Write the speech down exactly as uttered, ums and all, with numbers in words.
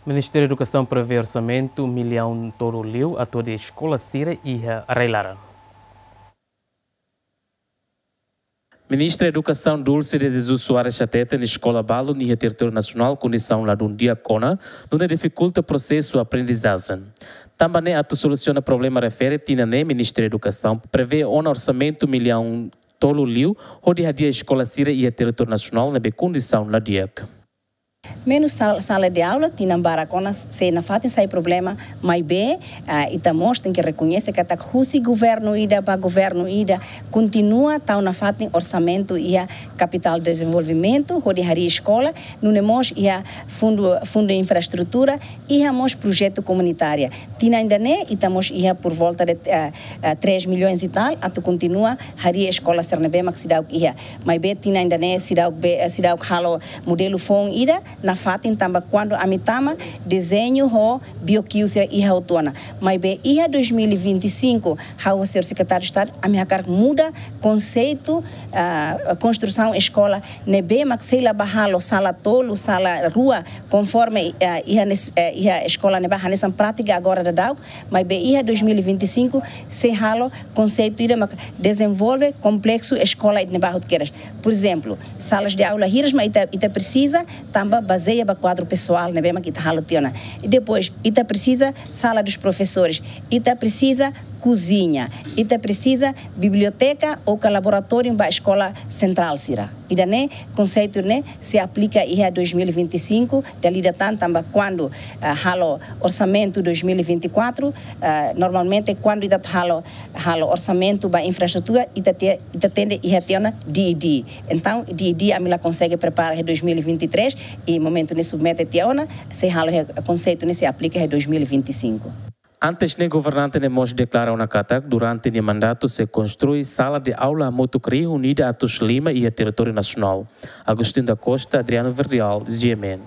Ministériu Edukasaun prevee orsamentu millaun tolu liu atu hadi'a eskola sira iha rai-laran. Ministra Edukasaun Dulce de Jesus Soares hateten eskola balun iha territóriu nasionál kondisaun ladún di'ak ona, nune'e difikulta prosesu aprendizajen. Tanba ne'e atu solusiona problema refere tinan ne'e Ministériu Edukasaun prevee ona orsamentu millaun tolu liu hodi hadi'a eskola sira iha territóriu nasionál ne'ebé kondisaun la di'ak. Menus sal-, sala de aula, tinan barak ona sei nafatin sai problema, maibé, ah, ita mós tenke rekoñese katak husi governu ida ba governu ida kontinua tau nafatin orsamentu iha kapitál dezenvolvimentu hodi hadi'a eskola, nune'e mós iha fundu, fundu infraestrutura, iha mós projetu komunitária. Tinan ida-ne'e ita mós iha por volta de, ah, ah, três milhões e tal atu kontinua hadi'a eskola sira ne'ebé mak seidauk iha. Maibé tinan ida-ne'e seidauk be, eh, seidauk halo modelu foun ida nafatin tanba kuandu ami tama dezeñu ho biokiu sira iha hotu ona. Maibé iha dois mil e vinte e cinco, ha'u ho señór Sekretáriu Estadu, ami hakarak muda konseitu, ah, konstrusaun eskola ne'ebé mak sei la bá halo sala tolu, sala rua, konforme, ah, iha nes-, eh, iha eskola ne'ebá hanesan prátika agora daudaun, maibé iha dois mil e vinte e cinco sei halo konseitu ida mak dezenvolve kompleksu eskola ida ne'ebá hotu kedas. Por ezemplu, salas de aula hiras mak ita, ita presiza tanba bazeia ba kuadru pesoál ne'ebé mak ita halo tiha ona. I depois, ita presiza sala dos professores, ita presiza kuziña, ita presiza biblioteka ou ka laboratóriu ba eskola sentrál sira. Ida-ne'e, konseitu ne'e sei aplika iha dois mil e vinte e cinco, dala ida tan tanba kuandu, ah, halo orsamentu dois mil e vinte e quatro, ah, normalmente kuandu ita halo, halo orsamentu ba infraestrutura, ita te-, ita tenke iha tiha ona D E D. Entaun, D E D ami la konsege prepara iha dois mil e vinte e três, i momentu ne'e submete tiha ona, sei halo iha konseitu ne'e sei aplika iha dois mil e vinte e cinco. Antes ne'e governante ne'e mós deklara ona katak durante nia mandatu sei konstrui sala de aula hamutuk rihun ida atus lima iha territóriu nasionál. Agostinho da Costa, Adriano Verdial, G M N.